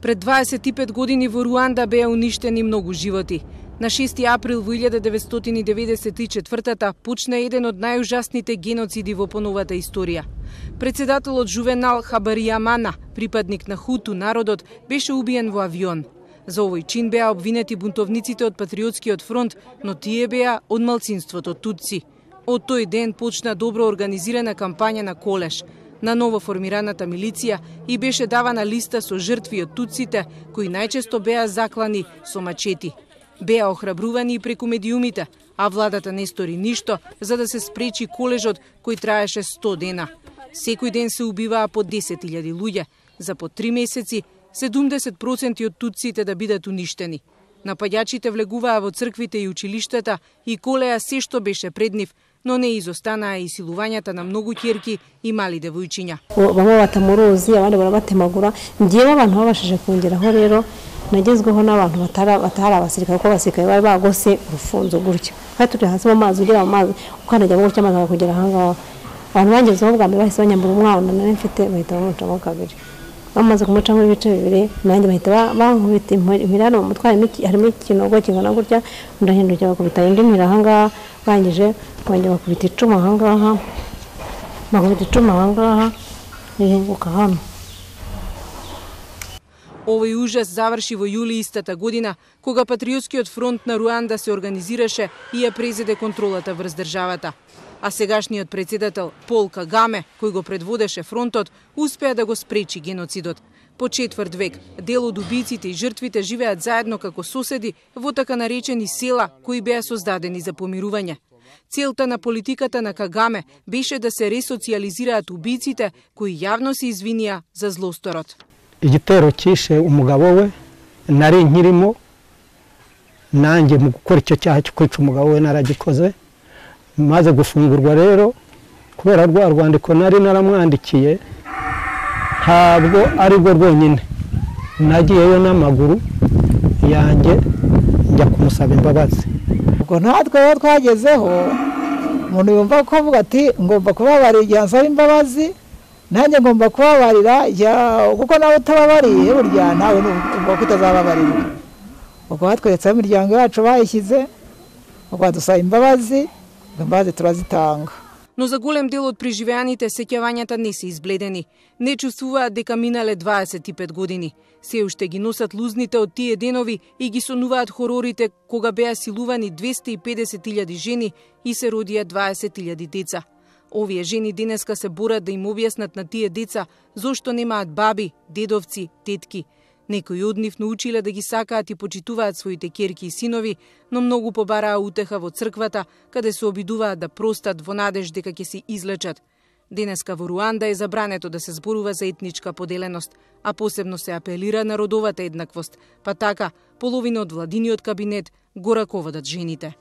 Пред 25 години во Руанда беа уништени многу животи. На 6 април во 1994 почна еден од најужасните геноциди во поновата историја. Председателот Жувенал Хабаријамана, припадник на Хуту народот, беше убиен во авион. За овој чин беа обвинети бунтовниците од Патриотскиот фронт, но тие беа од малцинството Тутси. Од тој ден почна добро организирана кампања на колеш на ново формираната милиција и беше давана листа со жртви од Тутсите, кои најчесто беа заклани со мачети. Беа охрабрувани и преку медиумите, а владата не стори ништо за да се спречи колежот кој траеше 100 дена. Секој ден се убиваа по 10.000 луѓе, за по 3 месеци 70% од тутсите да бидат уништени. Напаѓачите влегуваа во црквите и училиштата и колеа се што беше пред нив, но не изостанаа и силувањата на многу ќерки и мали девојчиња. Bamwe batamuruzi abandi barabatemagura ngiye abantu babashije kongeraho rero nagezweho n'abantu batari abasirikare ko abasirikare bari bagose urufunzo gutyo kandi turi hasi mu mazi ugira mu mazi ukanajya mu cyamazi kugera ahangaha abantu bangezeho bwa mbere bahise banyambura umwana nari mfite bahita bamucamo kabiri bamaze kumucamo ibice bibiri nanjye bahita bankubita imirano mu mutwe harimo ikinogo kingana gutya ndahindukira bakubita indi mira ahangaha bangije kongera bakubita icuma ahangaha иhenguka hano. Овој ужас заврши во јули истата година, кога Патриотскиот фронт на Руанда се организираше и ја презеде контролата врз државата. А сегашниот председател Пол Кагаме, кој го предводеше фронтот, успеа да го спречи геноцидот. По четврт век, дел од убиците и жртвите живеат заедно како соседи во така наречени села кои беа создадени за помирување. Целта на политиката на Кагаме беше да се ресоциализираат убиците кои јавно се извинија за злосторот. Igitero kishe umugabo we nari nkirimo nanjye mu gukora icyo cyaha cyo kwica umugabo we naragikoze maze gufungurwa rero kubera rwa rwandiko nari naramwandikiye ntabwo ari rwo rwonyine nagiyeyo n'amaguru yanjye njya kumusaba imbabazi. Ubwo natwe twagezeho umuntu yumva ko avuga ati ngomba kubabarira igihe ansaba imbabazi nanjye ngomba kubabarira kuko nawe utababariye burya nawe ubwo kutazababarira. Ubwo batweretse imiryango yacu bayishyize ubwo dusaba imbabazi turazitanga. Но за голем дел од преживеаните сеќавањата не се избледени. Не чувствуваат дека минале 25 години. Се уште ги носат лузните од тие денови и ги сонуваат хорорите кога беа силувани 250.000 жени и се родија 20.000 деца. Овие жени денеска се борат да им објаснат на тие деца зошто немаат баби, дедовци, тетки. Некои од нив научиле да ги сакаат и почитуваат своите ќерки и синови, но многу побараа утеха во црквата, каде се обидуваат да простат во надеж дека ќе се излечат. Денеска во Руанда е забрането да се зборува за етничка поделеност, а посебно се апелира на родовата еднаквост, па така половина од владиниот кабинет го раководат жените.